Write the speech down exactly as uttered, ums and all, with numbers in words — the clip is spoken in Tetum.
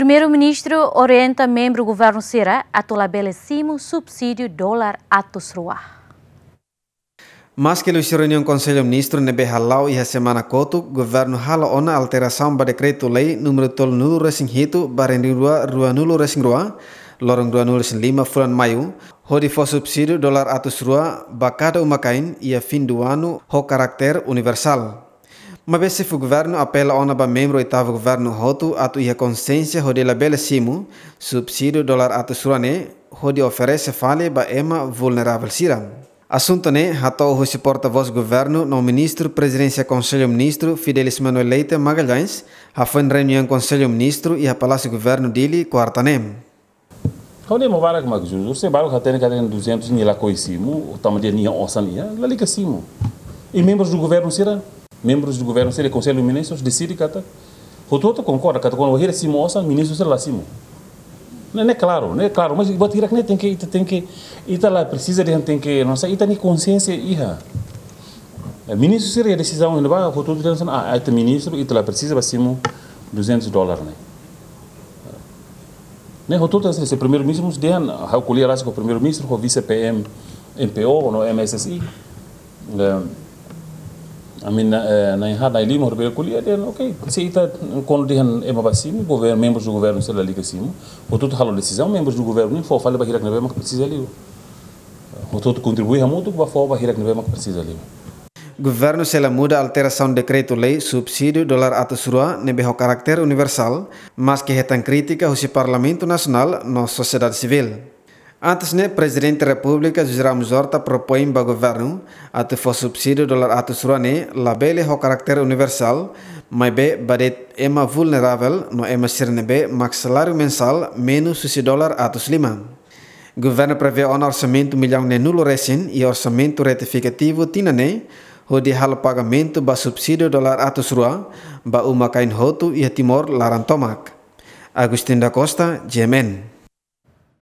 Primeiru-Ministru orienta membru governu sira atu labele simu subsídiu dolar atus rua. Maske liuhusi reuniaun Konsellu Ministru ne'ebé hala'o iha semana kotuk, governu halo ona alterasaun ba dekretu-lei númeru tolunulu-resin-hitu barra rua ruanulu-resin-rua, loron ruanulu-resin-lima fulan Maiu, hodi fó subsídiu dolar atus rua ba kada uma-kain iha fim do ano ho karakter universál. Maibé xefe governu apela ona ba membru oitavu governu hotu atu iha konsiénsia hodi labele simu subsídiu dolar atus rua ne'e, hodi oferese fali ba ema vulneravel sira. Asuntu ne'e hato'o husi porta-vós governu no Ministru Prezidénsia Konsellu Ministru Fidelis Manuel Leite Magalhães, hafoin reuniaun Konsellu Ministru iha Palásiu Governu Dili, kuarta ne'e. Ha'u ne'e ema barak mak jujur, se barak hatene katak duzentus nia lakohi simu, tanba nia osan iha, lalika simu. I membrus do governu sira, membrus do governu sira, Konsellu Ministrus deside katak, hotu-hotu konkorda katak kuandu bainhira simu osan, ministru sira la simu. Ne'e, ne'e klaru, ne'e klaru, mas buat hirak ne'e tenke, ita tenke, ita la presiza dehan tenke, no sa ita-nia konsiénsia iha. Eh, ministru sira iha desizaun iha ne'ebá, hotu-hotu dehan, ah, ita ministru, ita la presiza ba simu duzentus dolar ne'e. Ne'e hotu-hotu, se, se primeiru-ministru mós dehan, ha'u ko'alia rasik ho primeiru-ministru, ho vise-P M, M P O, no M S S I. Eh, ami na'in, eh, na'in haat, na'in lima, hotu bele ko'alia dehan, ok, se ita kuandu dehan ema ba simu, governu, membrus do governu sira lalika simu, hotu-hotu halo desizaun, membrus do governu ne'e fó fali ba hirak ne'ebé mak presiza liu. Hotu-hotu kontribui hamutuk ba fó ba hirak ne'ebé mak presiza liu. Governu sei la muda alterasaun dekretu-lei subsídiu dolar atus rua ne'ebé ho karakter universál, maske hetan krítika husi Parlamentu Nasionál no sosiedade sivíl. Antes ne'e, Prezidente Repúblika José Ramos Horta propoin ba governu atu fó subsídiu dolar atus rua ne'e labele ho karakter universál, maibé ba de'it ema vulneravel no ema sira ne'ebé mak saláriu mensál menus husi dolar atus lima. Governu prevee ona orsamentu millaun neenulu-resin iha orsamentu retifikativu tinan ne'e, hodi halo pagamentu ba subsídiu dolar atus rua ba uma-kain hotu iha Timor laran tomak. Agustin da Costa, G M N.